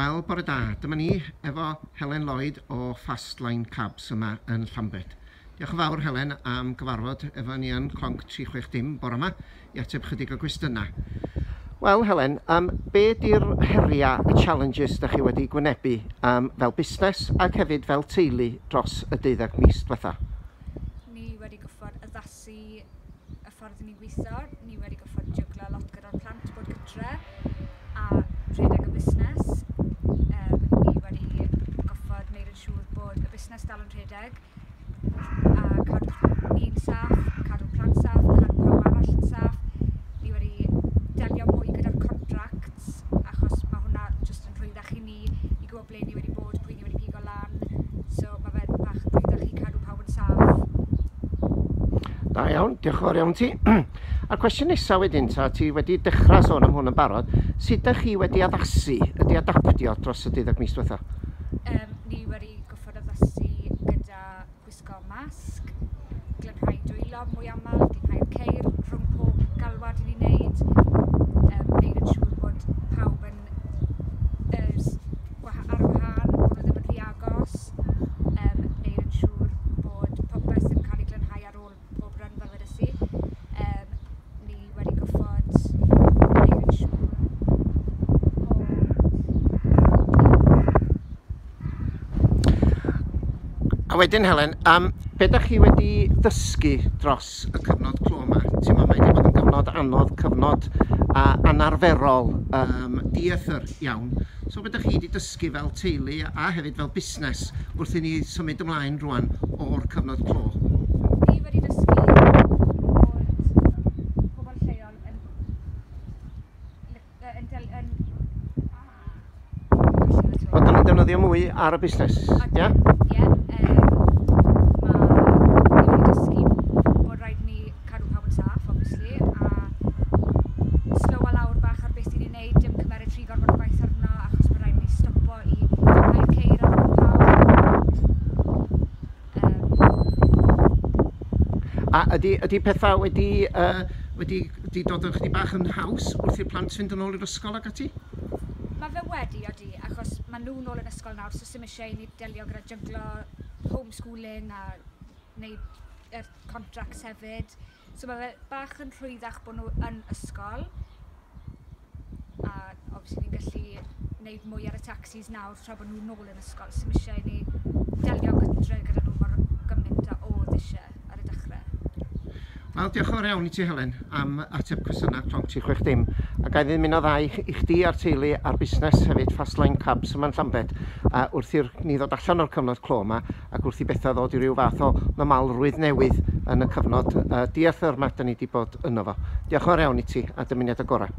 Wel, bore da. Dyma ni efo Helen Lloyd o Fastline Cabs yma yn Llambed. Diolch yn fawr, Helen, am gyfarfod efo ni yn Clonc 360 bore yma i ateb chydig o gwestiynau. Wel, Helen, be di'r heriau, y challenges da chi wedi gwynebu fel busnes ac hefyd fel teulu dros y 12 mis diwetha? Ni wedi goffod addasu y ffordd ni'n gweithio. Ni wedi goffod jyglo lot gyda'r plant bod gytre a rhedeg y busnes. Ni wedi goffod wneud yn siŵr bod y busnes dal yn rhedeg a cadw ni'n saff, cadw plant saff, cadw pawb arall yn saff. Ni wedi delio mwy gyda'r contracts achos mae hwnna jyst yn rhwyddach i ni i gwybod ble ni wedi bod, pwy ni wedi pigo lan. So mae fe'n bach yn rhwyddach i cadw pawb yn saff. Da iawn, diolch yn fawr iawn ti. A'r cwestiwn nesaf wedyn, ta, ti wedi dechrau sôn am hwn yn barod, sut ydych chi wedi addasu, ydy adaptio dros y 12 mis diwetha? Ni wedi goffod addasu gyda gwisgo masg, glanhau dwylo mwy aml, glanhau'r ceir rhwng pob galwad i ni'n neud, neud yn siŵr bod pawb yn ar wahân, bod nhw ddim yn rhy agos, neud yn siŵr bod popeth yn cael ei glanhau ar ôl pob run fel wedes i. Ni wedi goffod neud yn siŵr bod A wedyn, Helen, be dach chi wedi ddysgu dros y cyfnod clo yma? Ti'n meddwl, mae wedi bod yn gyfnod anodd, cyfnod anarferol, dieithr iawn. So be dach chi wedi dysgu fel teulu a hefyd fel busnes wrth i ni symud ymlaen rwan o'r cyfnod clo? Ni wedi dysgu bod pobl lleol yn Bod nhw'n defnyddio mwy ar y busnes, ie? Ie. Ni wedi dysgu bod rhaid ni cadw pawb yn saff, obviously, a slowa lawr bach ar beth ni'n ei wneud, dim cymeryd rhy gormod o gwaith arno, achos mae rhaid ni stopo i glanhau'r ceir ar ôl pawb. A ydy pethau wedi dod yn chydig bach yn haws wrth i'r plant fynd yn ôl i'r ysgol ac ati? Mae fe wedi, odi, achos mae nhw nôl yn ysgol nawr, so sim eisiau i ni delio gyda jyglo homeschooling a wneud yr contracts hefyd. So mae fe bach yn rhwyddach bod nhw yn ysgol. A obviously ni'n gallu wneud mwy ar y taxis nawr tra bod nhw nôl yn ysgol. Sim eisiau i ni delio gytre gyda nhw mor gymaint a oedd eisiau ar y dechrau. Wel, diolch yn fawr iawn i ti, Helen, am ateb cwestiynau Clonc 360. A ga i ddymuno dda i chdi a'r teulu a'r busnes hefyd, Fastline Cabs yma'n Llambed, wrth i'r ni ddod allan o'r cyfnod clo yma ac wrth i bethau ddod i ryw fath o normalrwydd newydd yn y cyfnod dieithr yma da ni wedi bod yno fo. Diolch yn fawr iawn i ti a dymuniad y gorau.